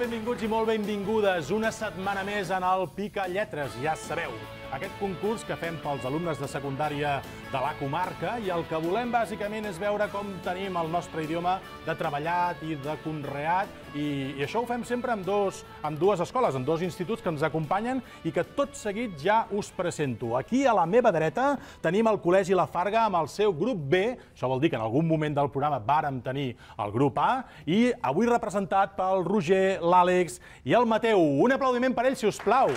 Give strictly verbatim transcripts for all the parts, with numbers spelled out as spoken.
benvinguts i molt benvingudes una setmana més en el Pica Lletres. Ja sabeu, aquest concurs que fem pels alumnes de secundària de la comarca i el que volem bàsicament és veure com tenim el nostre idioma de treballat i de conreat i, i això ho fem sempre amb, dos, amb dues escoles, amb dos instituts que ens acompanyen i que tot seguit ja us presento. Aquí a la meva dreta tenim el Col·legi La Farga amb el seu grup B, això vol dir que en algun moment del programa vàrem tenir el grup A, i avui representat pel Roger, l'Àlex i el Mateu. Un aplaudiment per ells, si us plau.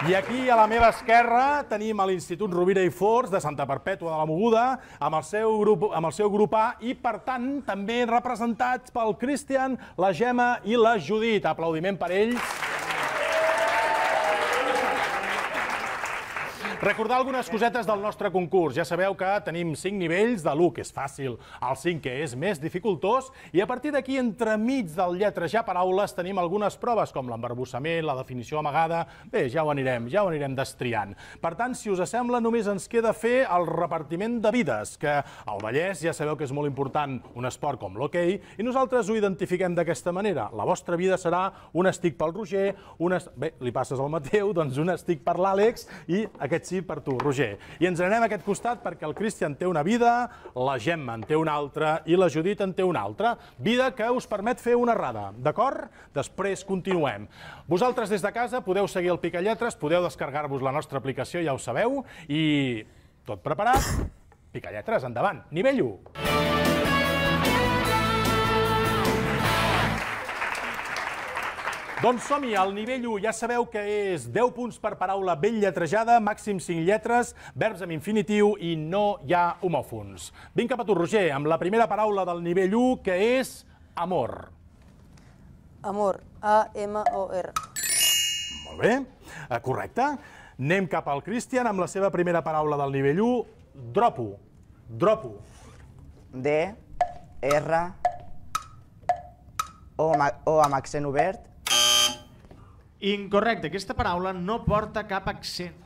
I aquí, a la meva esquerra, tenim l'Institut Rovira i Forns de Santa Perpètua de la Mogoda amb el seu grup, amb el seu grup A i, per tant, també representats pel Cristian, la Gemma i la Judit. Aplaudiment per ells. Recordar algunes cosetes del nostre concurs. Ja sabeu que tenim cinc nivells, de l'u, que és fàcil, al cinc, que és més dificultós, i a partir d'aquí, entremig del lletrejar paraules, tenim algunes proves, com l'embarbussament, la definició amagada. Bé, ja ho anirem, ja ho anirem destriant. Per tant, si us sembla, només ens queda fer el repartiment de vides, que al Vallès ja sabeu que és molt important un esport com l'hoquei, i nosaltres ho identifiquem d'aquesta manera. La vostra vida serà un estic pel Roger, un est... bé, li passes al Mateu, doncs un estic per l'Àlex, i aquest sí per tu, Roger. I ens anem a aquest costat perquè el Cristian té una vida, la Gemma en té una altra i la Judit en té una altra. Vida que us permet fer una errada, d'acord? Després continuem. Vosaltres des de casa podeu seguir el Pica Lletres, podeu descarregar-vos la nostra aplicació, ja ho sabeu, i tot preparat? Pica Lletres, endavant. Nivell u. Doncs som-hi, al nivell u ja sabeu que és deu punts per paraula ben lletrejada, màxim cinc lletres, verbs amb infinitiu i no hi ha homòfons. Vinc cap a tu, Roger, amb la primera paraula del nivell u, que és amor. Amor, A M O R. Molt bé, correcte. Anem cap al Cristian amb la seva primera paraula del nivell u, dropo. Dropo. D, R, O amb accent obert. Incorrecte, aquesta paraula no porta cap accent.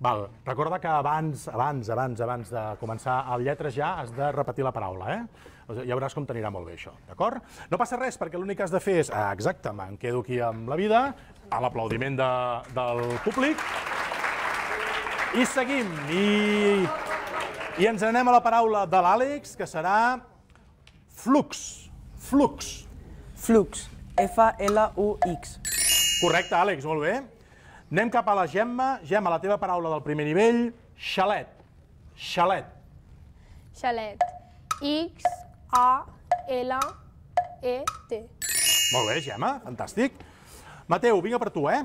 Val, recorda que abans, abans, abans, abans de començar el lletrejar has de repetir la paraula, eh? Ja veuràs com t'anirà molt bé això, d'acord? No passa res, perquè l'únic que has de fer és, ah, exacte, me'n quedo aquí amb la vida, a l'aplaudiment de, del públic, i seguim, i, i ens anem a la paraula de l'Àlex, que serà flux, flux. Flux, F L U X. Correcte, Àlex, molt bé. Anem cap a la Gemma. Gemma, la teva paraula del primer nivell, xalet. Xalet. Xalet. X A L E T. Molt bé, Gemma, fantàstic. Mateu, vinga per tu, eh?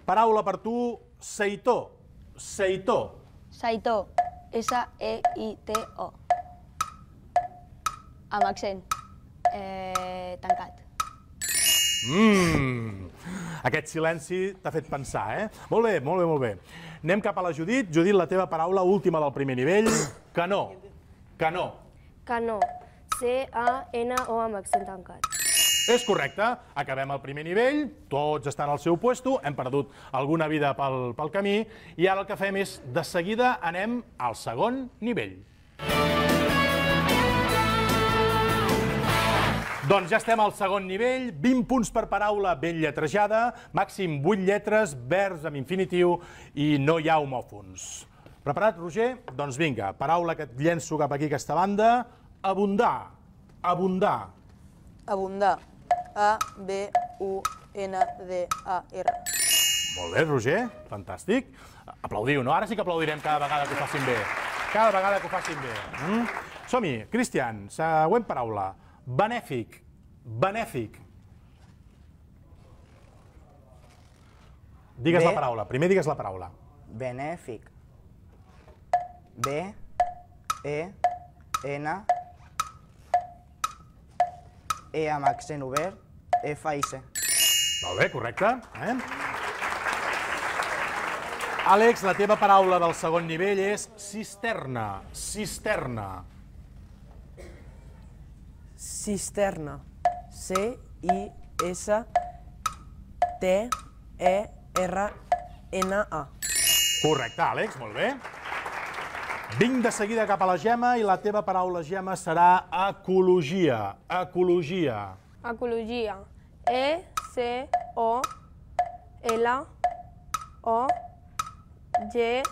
Paraula per tu, seitó. Seitó. Saitó. S E I T O. Amb accent. Eh, tancat. Mmm, aquest silenci t'ha fet pensar, eh? Molt bé, molt bé, molt bé. Anem cap a la Judit. Judit, la teva paraula última del primer nivell, canó. Canó. Canó. C A N O amb accent tancat. És correcte, acabem el primer nivell, tots estan al seu puesto, hem perdut alguna vida pel, pel camí, i ara el que fem és, de seguida, anem al segon nivell. Doncs ja estem al segon nivell, vint punts per paraula ben lletrejada, màxim vuit lletres, verbs amb infinitiu i no hi ha homòfons. Preparat, Roger? Doncs vinga, paraula que et llenço cap aquí aquesta banda, abundar, abundar. Abundar, A B U N D A R. Molt bé, Roger, fantàstic. Aplaudiu, no? Ara sí que aplaudirem cada vegada que ho facin bé. Cada vegada que ho facin bé. Mm? Som-hi, Cristian, següent paraula. Benèfic, benèfic. Digues la paraula, primer digues la paraula. Benèfic. B, E, N, E amb accent obert, F i C. Molt bé, correcte. Eh? Àlex, la teva paraula del segon nivell és cisterna, cisterna. Cisterna, C I S T E R N A. Correcte, Àlex, molt bé. Vinc de seguida cap a la Gemma i la teva paraula, Gemma, serà ecologia. Ecologia. Ecologia. E, C, O, L, O, G,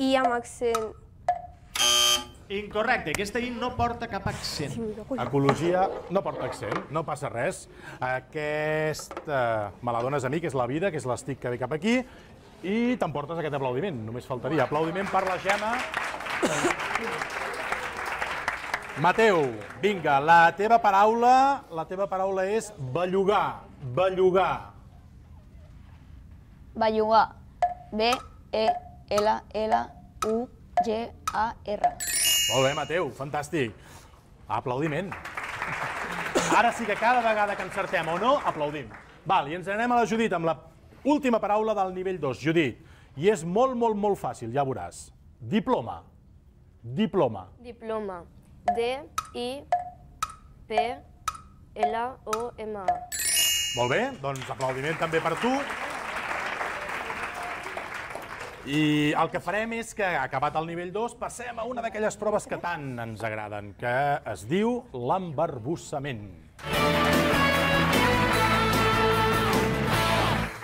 I amb accent. Incorrecte, aquesta I no porta cap accent. Ecologia no porta accent, no passa res. Aquesta me la dones a mi, que és la vida, que és l'estic que ve cap aquí, i t'emportes aquest aplaudiment, només faltaria. Aplaudiment per la Gemma. Mateu, vinga, la teva paraula, la teva paraula és bellugar, bellugar. Bellugar. B, E, L, L, U, G, A, R. Molt bé, Mateu, fantàstic. Aplaudiment. Ara sí que cada vegada que encertem o no, aplaudim. Val, i ens anem a la Judit amb la última paraula del nivell dos. Judit, i és molt, molt, molt fàcil, ja veuràs. Diploma. Diploma. Diploma. D, I, P, L, O, M, A. Molt bé, doncs aplaudiment també per tu. I el que farem és que, acabat el nivell dos, passem a una d'aquelles proves que tant ens agraden, que es diu l'embarbussament.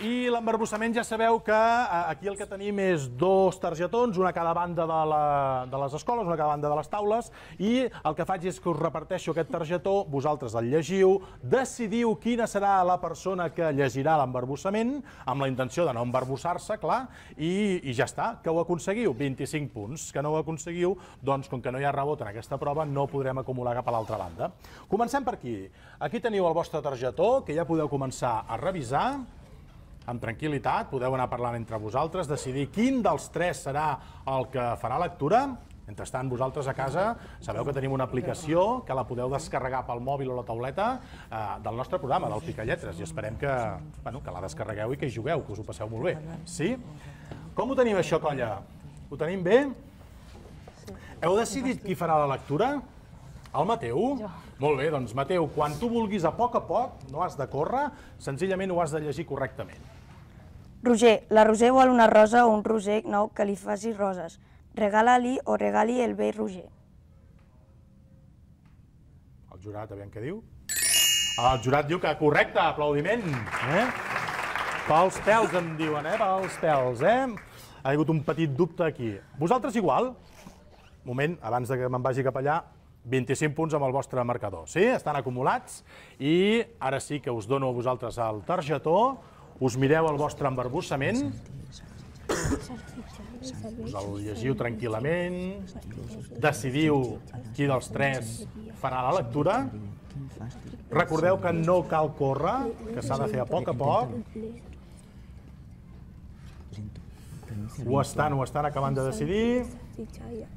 I l'embarbussament ja sabeu que aquí el que tenim és dos targetons, una a cada banda de, la, de les escoles, una a cada banda de les taules, i el que faig és que us reparteixo aquest targetó, vosaltres el llegiu, decidiu quina serà la persona que llegirà l'embarbussament, amb la intenció de no embarbussar-se, clar, i, i ja està, que ho aconseguiu, vint-i-cinc punts. Que no ho aconseguiu, doncs, com que no hi ha rebot en aquesta prova, no podrem acumular cap a l'altra banda. Comencem per aquí. Aquí teniu el vostre targetó, que ja podeu començar a revisar. Amb tranquil·litat, podeu anar parlant entre vosaltres, decidir quin dels tres serà el que farà lectura. Mentrestant, vosaltres a casa sabeu que tenim una aplicació que la podeu descarregar pel mòbil o la tauleta eh, del nostre programa, del Picalletres, i esperem que, bueno, que la descarregueu i que hi jugueu, que us ho passeu molt bé. Sí? Com ho tenim això, colla? Ho tenim bé? Heu decidit qui farà la lectura? El Mateu? Molt bé, doncs Mateu, quan tu vulguis a poc a poc, no has de córrer, senzillament ho has de llegir correctament. Roger, la Roser vol una rosa o un roser nou que li faci roses. Regala-li o regali el vell Roger. El jurat, aviam què diu. El jurat diu que correcte, aplaudiment. Eh? Pels pèls em diuen, eh? Pels pèls, eh? Ha hagut un petit dubte aquí. Vosaltres igual? Moment, abans de que me'n vagi cap allà, vint-i-cinc punts amb el vostre marcador. Sí? Estan acumulats i ara sí que us dono a vosaltres el targetó, us mireu el vostre embarbussament, us el llegiu tranquil·lament, decidiu qui dels tres farà la lectura, recordeu que no cal córrer, que s'ha de fer a poc a poc. Ho estan, ho estan acabant de decidir.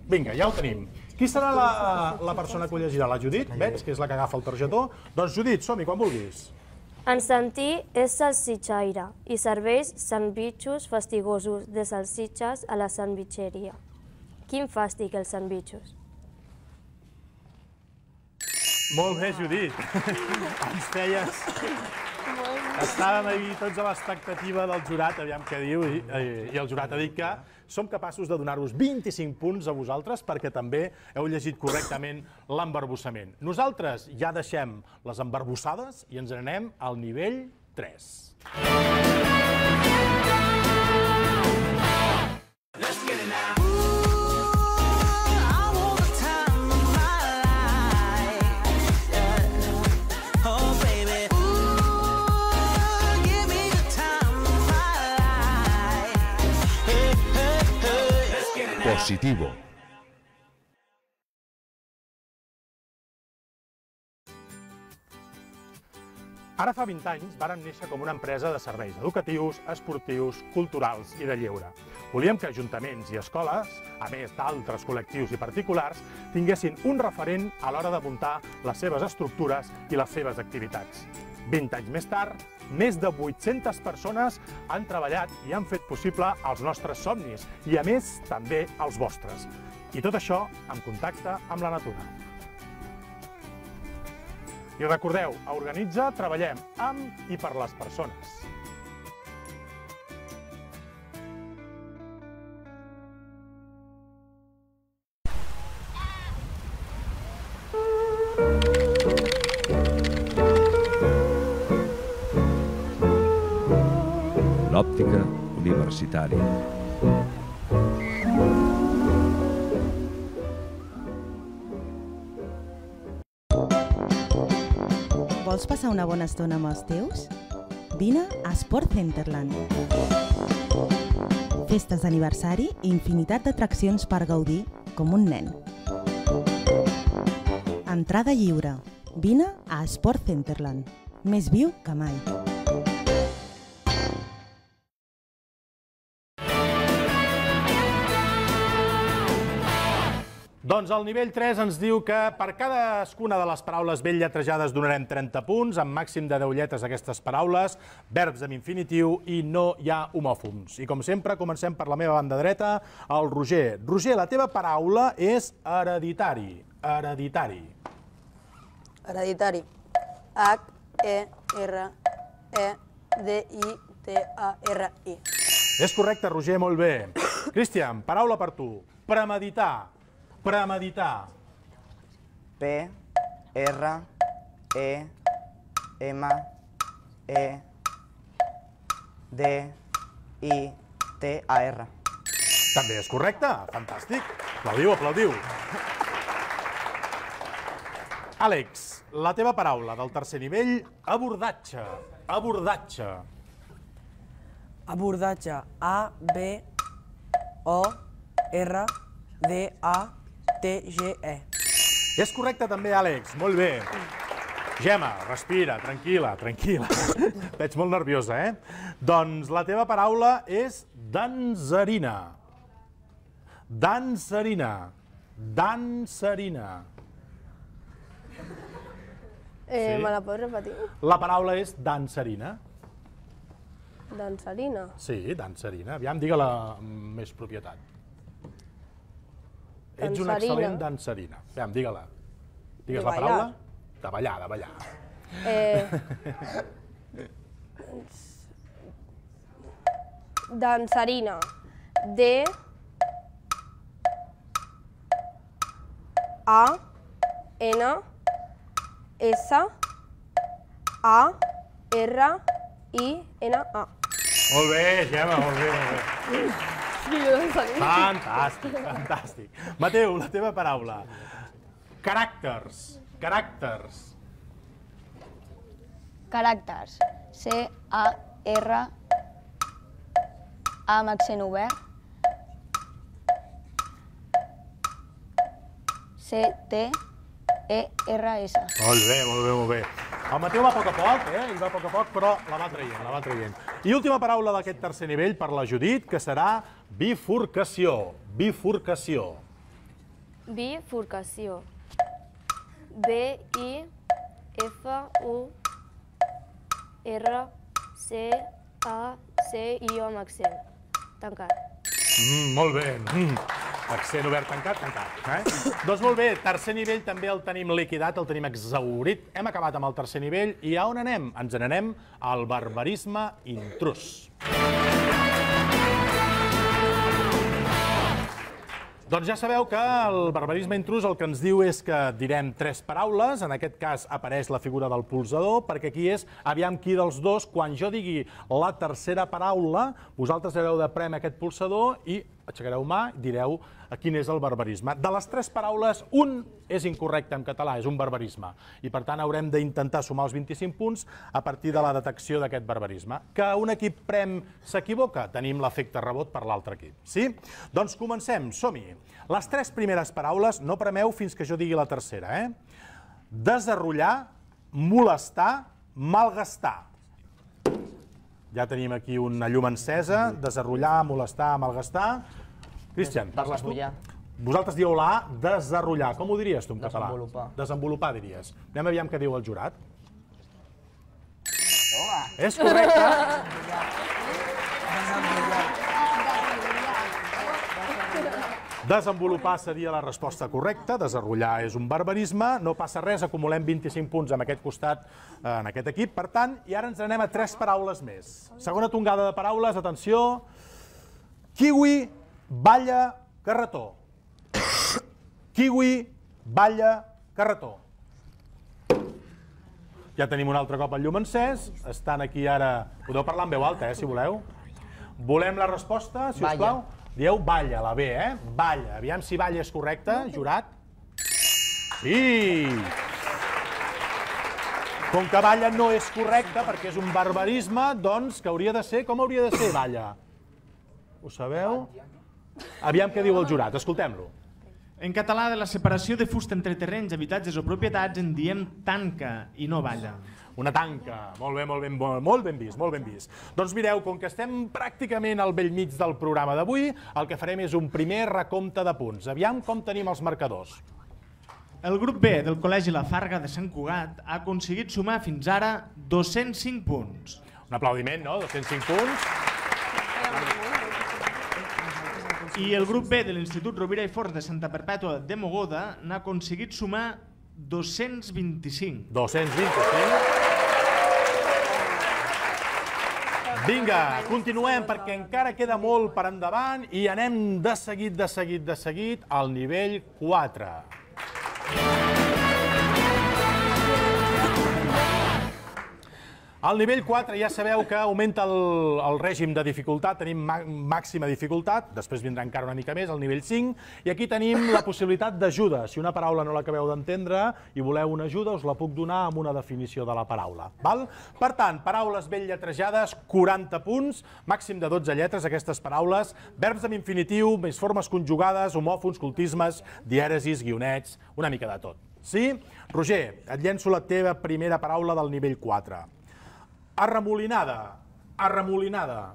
Vinga, ja ho tenim. Qui serà la, la persona que ho llegirà? La Judit? Veig que és la que agafa el targetó. Doncs Judit, som-hi, quan vulguis. En Santí és salsitxaire i serveix sandvitxos fastigosos de salsitxes a la sandvitxeria. Quin fàstic, els sandvitxos? Molt bé, Judit. Ens feies... Estàvem ahir tots a l'expectativa del jurat, aviam què diu, i, i el jurat ha dit que som capaços de donar-vos vint-i-cinc punts a vosaltres perquè també heu llegit correctament l'embarbussament. Nosaltres ja deixem les embarbussades i ens anem al nivell tres. Positivo. Ara fa vint anys vàrem néixer com una empresa de serveis educatius, esportius, culturals i de lleure. Volíem que ajuntaments i escoles, a més d'altres col·lectius i particulars, tinguessin un referent a l'hora de muntar les seves estructures i les seves activitats. vint anys més tard, més de vuit-centes persones han treballat i han fet possible els nostres somnis i, a més, també els vostres. I tot això en contacte amb la natura. I recordeu, a Organitza treballem amb i per les persones. l'òptica universitària. Vols passar una bona estona amb els teus? Vine a Sport Centerland. Festes d'aniversari i infinitat d'atraccions per gaudir com un nen. Entrada lliure. Vine a Sport Centerland. Més viu que mai. Doncs el nivell tres ens diu que per cadascuna de les paraules ben lletrejades donarem trenta punts, amb màxim de deu lletres aquestes paraules, verbs amb infinitiu i no hi ha homòfons. I com sempre, comencem per la meva banda dreta, el Roger. Roger, la teva paraula és hereditari. Hereditari. Hereditari. H, E, R, E, D, I, T, A, R, I. És correcte, Roger, molt bé. Cristian, paraula per tu. Premeditar. Premeditar. P, R, E, M, E, D, I, T, A, R. També és correcte. Fantàstic. Aplaudiu, aplaudiu. Àlex, la teva paraula del tercer nivell, abordatge. Abordatge. Abordatge. A, B, O, R, D, A, T, G, E. És correcte també, Àlex. Molt bé. Gemma, respira, tranquil·la, tranquil·la. Veig molt nerviosa, eh? Doncs la teva paraula és danserina. Danserina. Danserina. Eh, me la pots repetir? La paraula és danserina. Dansarina. Sí, danserina. Aviam, digue-la amb més propietat. Ets una excel·lent dansarina. Aviam, digue-la. Digues la paraula. De ballar, de ballar. Eh... Dansarina. D... A... N... S... A... R... I... N... A. Molt bé, Gemma, molt bé, molt bé. Fantàstic, fantàstic. Mateu, la teva paraula. Caràcters. Caràcters. Caràcters. C, A, R, A amb accent obert. C, T, E, R, S. Molt bé, molt bé, molt bé. El Mateu va a poc a poc, eh? Ell va a poc a poc, però la va traient, la va traient. I última paraula d'aquest tercer nivell per la Judit, que serà bifurcació. Bifurcació. Bifurcació. B, I, F, U, R, C, A, C, I, O amb accent. Tancat. Mm, molt bé. Mm. Accent obert, tancat, tancat. Eh? Doncs molt bé, tercer nivell també el tenim liquidat, el tenim exhaurit. Hem acabat amb el tercer nivell i a on anem? Ens n'anem al barbarisme intrus. Doncs ja sabeu que el barbarisme intrus el que ens diu és que direm tres paraules, en aquest cas apareix la figura del polsador, perquè aquí és aviam qui dels dos, quan jo digui la tercera paraula, vosaltres haureu de prémer aquest polsador i aixecareu mà i direu quin és el barbarisme. De les tres paraules, un és incorrecte en català, és un barbarisme, i per tant haurem d'intentar sumar els vint-i-cinc punts a partir de la detecció d'aquest barbarisme. Que un equip prem s'equivoca, tenim l'efecte rebot per l'altre equip. Sí? Doncs comencem, som-hi. Les tres primeres paraules no premeu fins que jo digui la tercera, eh? Desarrollar, molestar, malgastar. Ja tenim aquí una llum encesa, desarrollar, molestar, malgastar. Cristian, parles tu? Vosaltres dieu la A, desarrollar. Com ho diries tu en català? Desenvolupar. Desenvolupar, diries. Anem aviam què diu el jurat. És correcte. Desenvolupar seria la resposta correcta, desarrollar és un barbarisme, no passa res, acumulem vint-i-cinc punts en aquest costat, en aquest equip, per tant, i ara ens anem a tres paraules més. Segona tongada de paraules, atenció, kiwi, balla, carretó. Kiwi, balla, carretó. Ja tenim un altre cop el llum encès, estan aquí ara... Podeu parlar en veu alta, eh, si voleu. Volem la resposta, si us plau? Dieu balla, la B, eh? Balla. Aviam si balla és correcte, jurat. Sí! Com que balla no és correcte, perquè és un barbarisme, doncs que hauria de ser... Com hauria de ser balla? Ho sabeu? Aviam què diu el jurat, escoltem-lo. En català, de la separació de fusta entre terrenys, habitatges o propietats en diem tanca i no balla. Una tanca. Molt bé, molt ben, molt ben vist, molt ben vist. Doncs mireu, com que estem pràcticament al bell mig del programa d'avui, el que farem és un primer recompte de punts. Aviam com tenim els marcadors. El grup B del Col·legi La Farga de Sant Cugat ha aconseguit sumar fins ara dos-cents cinc punts. Un aplaudiment, no? dos-cents cinc punts. I el grup B de l'Institut Rovira i Forns de Santa Perpètua de Mogoda n'ha aconseguit sumar dos-cents vint-i-cinc. dos-cents vint-i-cinc. Vinga, continuem perquè encara queda molt per endavant i anem de seguit, de seguit, de seguit al nivell quatre. Al nivell quatre ja sabeu que augmenta el, el règim de dificultat, tenim màxima dificultat, després vindrà encara una mica més, al nivell cinc, i aquí tenim la possibilitat d'ajuda. Si una paraula no l'acabeu d'entendre i voleu una ajuda, us la puc donar amb una definició de la paraula. Val? Per tant, paraules ben lletrejades, quaranta punts, màxim de dotze lletres, aquestes paraules, verbs amb infinitiu, més formes conjugades, homòfons, cultismes, dièresis, guionets, una mica de tot. Sí? Roger, et llenço la teva primera paraula del nivell quatre. Arremolinada. Arremolinada.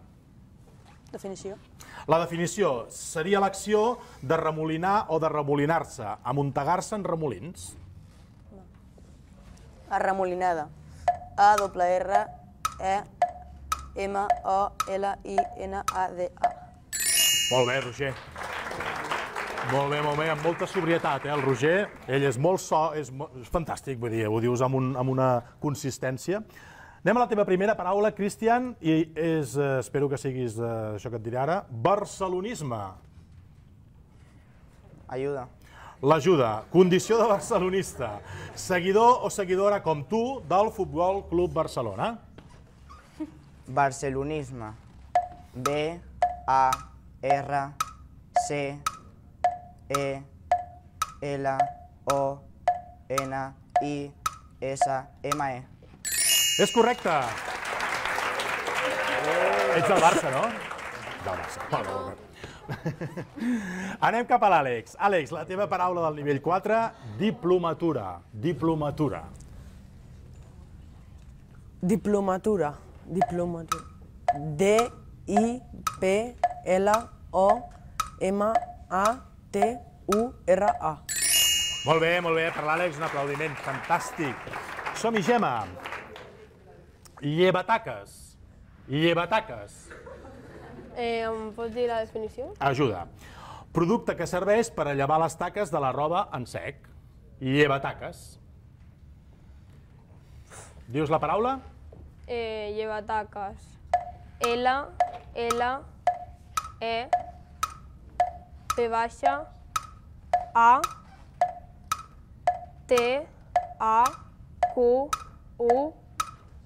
Definició. La definició seria l'acció de remolinar o de remolinar-se, amuntegar-se en remolins. Arremolinada. A, doble R, E, M, O, L, I, N, A, D, A. Molt bé, Roger. Molt bé, molt bé, amb molta sobrietat, eh, el Roger. Ell és molt so, és, és fantàstic, vull dir, ho dius amb, un, amb una consistència. Anem a la teva primera paraula, Cristian, i és, eh, espero que siguis eh, això que et diré ara, barcelonisme. Ajuda. L'ajuda, condició de barcelonista, seguidor o seguidora com tu del Futbol Club Barcelona. Barcelonisme. B, A, R, C, E, L, O, N, I, S, M, E. És correcte. Ets del Barça, no? Del Barça. Molt bé, molt bé. Anem cap a l'Àlex. Àlex, la teva paraula del nivell quatre, diplomatura. Diplomatura. Diplomatura. Diplomatura. D, I, P, L, O, M, A, T, U, R, A. Molt bé, molt bé. Per l'Àlex, un aplaudiment. Fantàstic. Som-hi, Gemma. Llevataques. Llevataques. Eh, em pots dir la definició? Ajuda. Producte que serveix per a llevar les taques de la roba en sec. Llevataques. Dius la paraula? Eh, llevataques. L, L, E, P baixa, A, T, A, Q, U,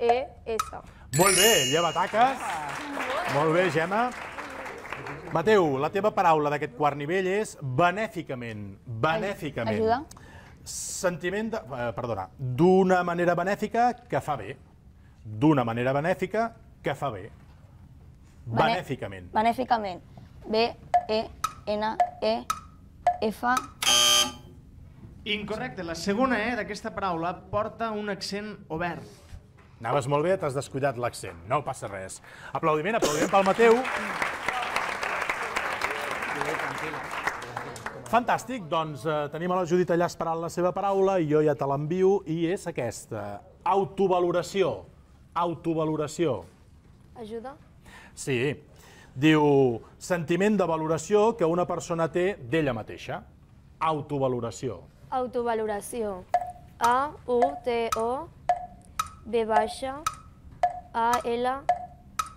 E, S. Molt bé, llevataques. Molt bé, Gemma. Mateu, la teva paraula d'aquest quart nivell és benèficament. Benèficament. Ajuda. Sentiment de... Eh, perdona. D'una manera benèfica que fa bé. D'una manera benèfica que fa bé. Benèficament. Benèficament. B, E, N, E, F... Incorrecte. La segona E d'aquesta paraula porta un accent obert. Anaves molt bé, t'has descuidat l'accent. No passa res. Aplaudiment, aplaudiment pel Mateu. Fantàstic, doncs eh, tenim a la Judit allà esperant la seva paraula i jo ja te l'envio i és aquesta. Autovaloració. Autovaloració. Ajuda? Sí. Diu, sentiment de valoració que una persona té d'ella mateixa. Autovaloració. Autovaloració. A, U, T, O, B baixa, A, L,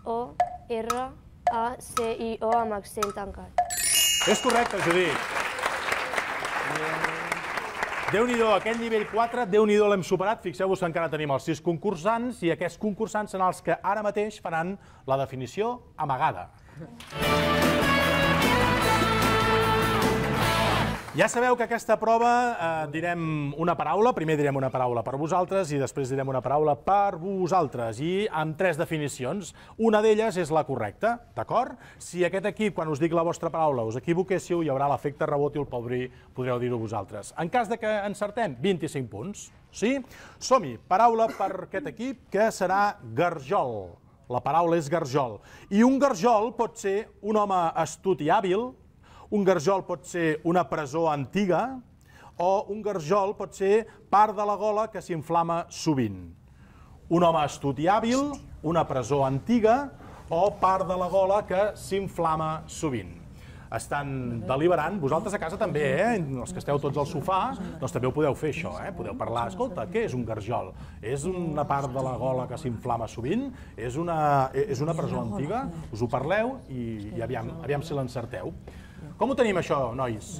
O, R, A, C, I, O amb accent tancat. És correcte, Judit. Déu-n'hi-do, aquest nivell quatre, Déu-n'hi-do l'hem superat. Fixeu-vos que encara tenim els sis concursants i aquests concursants són els que ara mateix faran la definició amagada. Ja sabeu que aquesta prova eh, direm una paraula, primer direm una paraula per vosaltres i després direm una paraula per vosaltres, i amb tres definicions. Una d'elles és la correcta, d'acord? Si aquest equip, quan us dic la vostra paraula, us equivoquéssiu, hi haurà l'efecte rebot i el Pol Bri podreu dir-ho vosaltres. En cas de que encertem, vint-i-cinc punts. Sí? Som-hi. Paraula per aquest equip, que serà garjol. La paraula és garjol. I un garjol pot ser un home astut i hàbil, un garjol pot ser una presó antiga, o un garjol pot ser part de la gola que s'inflama sovint. Un home astut i hàbil, una presó antiga, o part de la gola que s'inflama sovint. Estan deliberant, vosaltres a casa també, eh? Els que esteu tots al sofà, doncs també ho podeu fer això, eh? Podeu parlar, escolta, què és un garjol? És una part de la gola que s'inflama sovint? És una, és una presó antiga? Us ho parleu i, i aviam, aviam si l'encerteu. Com ho tenim això, nois?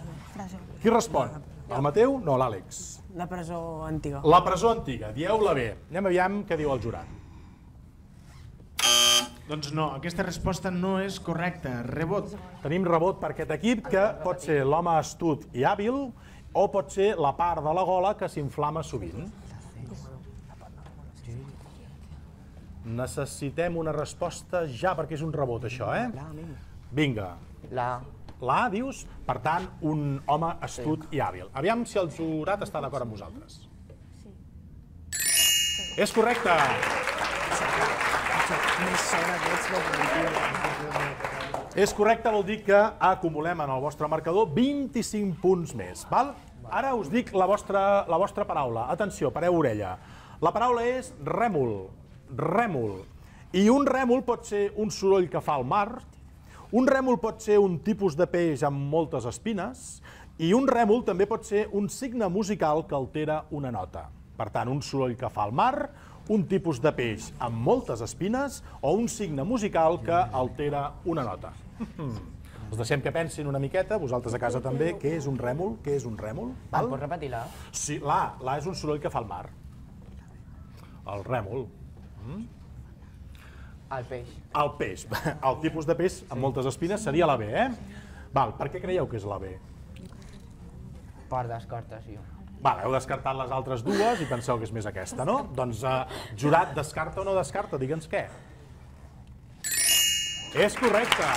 Qui respon? El Mateu? No, l'Àlex. La presó antiga. La presó antiga, dieu-la bé. Anem aviam què diu el jurat. Doncs no, aquesta resposta no és correcta. Rebot. Tenim rebot per aquest equip, que pot ser l'home astut i hàbil o pot ser la part de la gola que s'inflama sovint. Necessitem una resposta ja, perquè és un rebot, això, eh? Vinga. La. La, dius? Per tant, un home astut i hàbil. Aviam si el jurat està d'acord amb vosaltres. És correcte! És correcte, vol dir que acumulem en el vostre marcador vint-i-cinc punts més. Val? Ara us dic la vostra, la vostra paraula. Atenció, pareu orella. La paraula és rèmol. Rèmol. I un rèmol pot ser un soroll que fa el mar, un rèmol pot ser un tipus de peix amb moltes espines, i un rèmol també pot ser un signe musical que altera una nota. Per tant, un soroll que fa el mar, un tipus de peix amb moltes espines o un signe musical que altera una nota. Els deixem que pensin una miqueta, vosaltres a casa també, què és un rèmol? Què és un rèmol? Em pots repetir la? Sí, la. La és un soroll que fa el mar. El rèmol. El peix. El peix. El tipus de peix amb moltes espines seria la B, eh? Val, per què creieu que és la B? Per descartació. Val, heu descartat les altres dues i penseu que és més aquesta, no? Doncs, eh, jurat, descarta o no descarta? Digue'ns què. És correcte!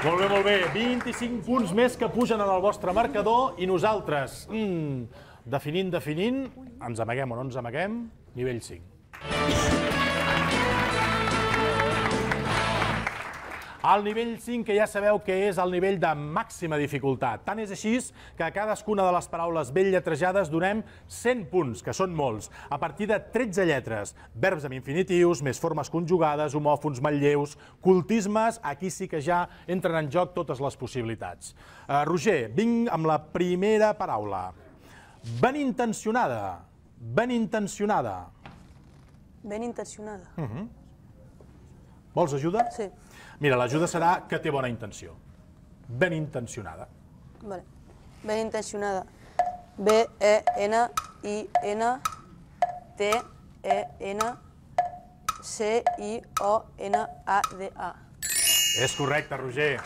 Molt bé, molt bé. vint-i-cinc punts més que pugen en el vostre marcador i nosaltres, mm, definint, definint, ens amaguem o no ens amaguem, nivell cinc. El nivell cinc, que ja sabeu que és el nivell de màxima dificultat. Tant és així que a cadascuna de les paraules ben lletrejades donem cent punts, que són molts, a partir de tretze lletres. Verbs amb infinitius, més formes conjugades, homòfons, manlleus, cultismes, aquí sí que ja entren en joc totes les possibilitats. Uh, Roger, vinc amb la primera paraula. Ben intencionada. Ben intencionada. Ben intencionada. Uh -huh. Vols ajuda? Sí. Mira, l'ajuda serà que té bona intenció. Ben intencionada. Vale. Ben intencionada. B E N I N T E N C I O N A D A. És correcte, Roger.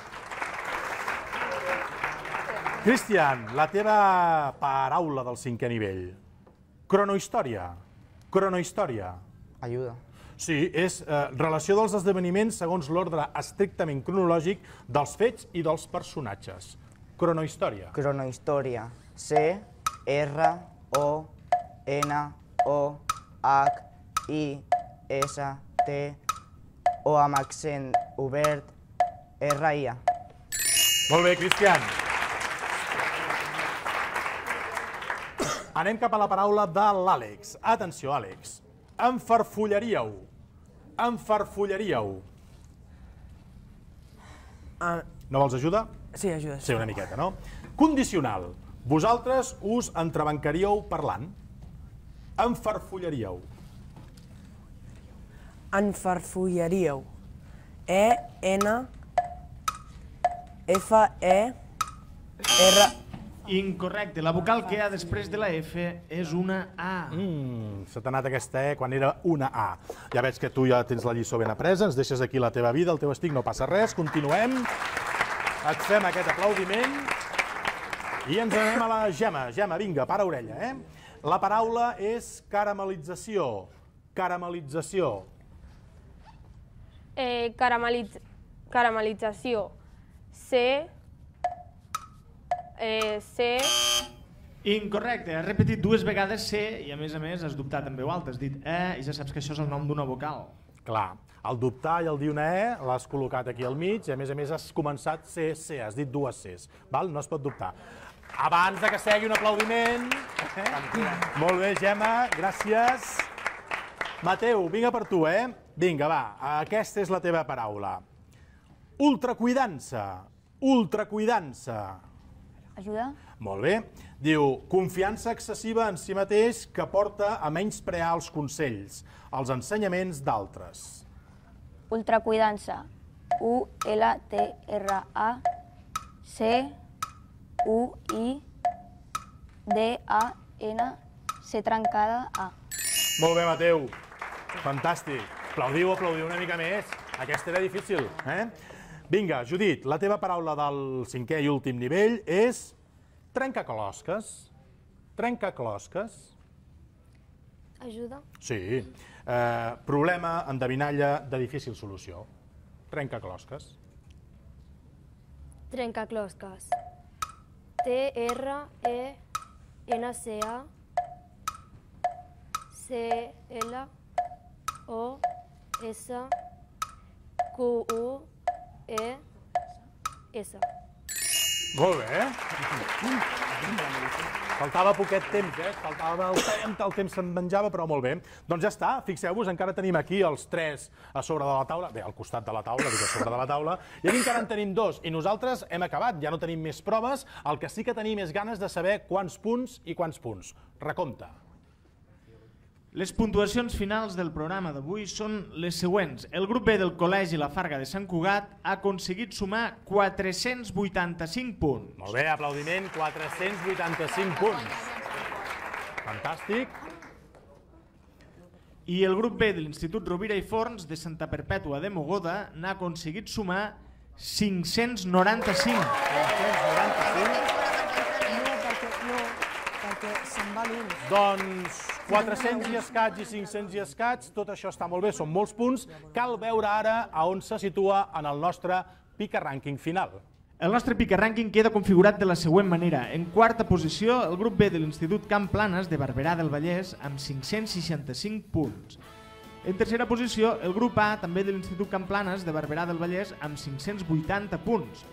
Cristian, la teva paraula del cinquè nivell. Cronohistòria. Cronohistòria. Ajuda. Sí, és eh, relació dels esdeveniments segons l'ordre estrictament cronològic dels fets i dels personatges. Cronohistòria. Cronohistòria. C, R, O, N, O, H, I, S, T, O amb accent obert, R, I, A. Molt bé, Cristian. Anem cap a la paraula de l'Àlex. Atenció, Àlex. Enfarfullaríeu. Enfarfullaríeu. Uh, no vols ajuda? Sí, ajuda. Sí, una miqueta, no? Condicional. Vosaltres us entrebancaríeu parlant. Enfarfullaríeu. Enfarfullaríeu. E, N, F, E, R, Incorrecte. La vocal que hi ha després de la F és una A. Mm, se t'ha anat aquesta E quan era una A. Ja veig que tu ja tens la lliçó ben apresa, ens deixes aquí la teva vida, el teu estic, no passa res, continuem. Et fem aquest aplaudiment i ens anem a la Gemma. Gemma, vinga, para orella, eh? La paraula és caramelització. Caramelització. Eh, carameliz caramelització. C. Eh, C. Incorrecte. Has repetit dues vegades C i a més a més has dubtat en veu alta. Has dit E i ja saps que això és el nom d'una vocal. Clar, el dubtar i el dir una E l'has col·locat aquí al mig i a més a més has començat C, C, has dit dues Cs. Val? No es pot dubtar. Abans de que segui un aplaudiment... Eh? Molt bé, Gemma, gràcies. Mateu, vinga per tu, eh? Vinga, va, aquesta és la teva paraula. Ultracuidança. Ultracuidança. Ajuda? Molt bé. Diu, confiança excessiva en si mateix que porta a menysprear els consells, els ensenyaments d'altres. Ultracuidança. U L T R A C U I D A N C trencada A. Molt bé, Mateu. Fantàstic. Aplaudiu, aplaudiu una mica més. Aquesta era difícil, eh? Vinga, Judit, la teva paraula del cinquè i últim nivell és trencaclosques. Trencaclosques. Ajuda? Sí. Eh, problema, endevinalla, de difícil solució. Trencaclosques. Trencaclosques. T R E N C A C L O S Q U E S. Molt bé. Faltava poquet temps, eh? Faltava el temps, el temps se'n menjava, però molt bé. Doncs ja està, fixeu-vos, encara tenim aquí els tres a sobre de la taula, bé, al costat de la taula, dic a sobre de la taula, i aquí encara en tenim dos, i nosaltres hem acabat, ja no tenim més proves, el que sí que tenim és ganes de saber quants punts i quants punts. Recompte. Les puntuacions finals del programa d'avui són les següents. El grup B del Col·legi La Farga de Sant Cugat ha aconseguit sumar quatre-cents vuitanta-cinc punts. Molt bé, aplaudiment, quatre-cents vuitanta-cinc punts. Fantàstic. I el grup B de l'Institut Rovira i Forns de Santa Perpètua de Mogoda n'ha aconseguit sumar cinc-cents noranta-cinc. cinc-cents noranta-cinc. No, perquè, no, perquè se'n va l'un. Doncs quatre-cents i escaig i cinc-cents i escaig, tot això està molt bé, són molts punts. Cal veure ara a on se situa en el nostre pica rànquing final. El nostre pica rànquing queda configurat de la següent manera. En quarta posició, el grup B de l'Institut Camp Planes de Barberà del Vallès amb cinc-cents seixanta-cinc punts. En tercera posició, el grup A, també de l'Institut Camp Planes de Barberà del Vallès amb cinc-cents vuitanta punts.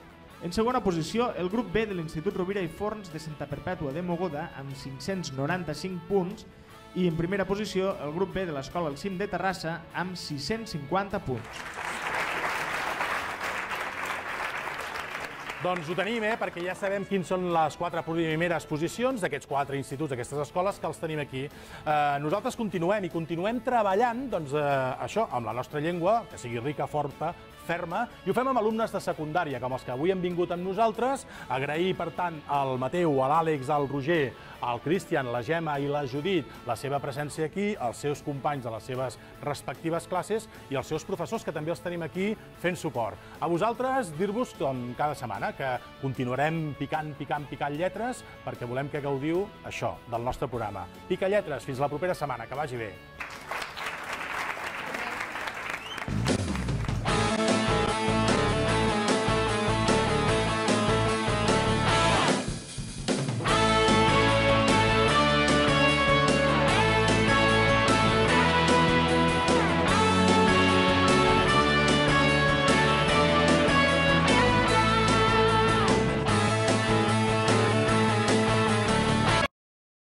En segona posició, el grup B de l'Institut Rovira i Forns de Santa Perpètua de Mogoda amb cinc-cents noranta-cinc punts i en primera posició el grup B de l'Escola El Cim de Terrassa amb sis-cents cinquanta punts. Doncs ho tenim, eh? Perquè ja sabem quins són les quatre primeres posicions d'aquests quatre instituts, d'aquestes escoles, que els tenim aquí. Eh, nosaltres continuem i continuem treballant, doncs, eh, això, amb la nostra llengua, que sigui rica, forta, ferma, i ho fem amb alumnes de secundària, com els que avui han vingut amb nosaltres. Agrair, per tant, al Mateu, a l'Àlex, al Roger, al Cristian, la Gemma i la Judit la seva presència aquí, els seus companys de les seves respectives classes i els seus professors, que també els tenim aquí fent suport. A vosaltres, dir-vos, com cada setmana, que continuarem picant, picant, picant lletres, perquè volem que gaudiu això, del nostre programa. Pica lletres, fins la propera setmana, que vagi bé.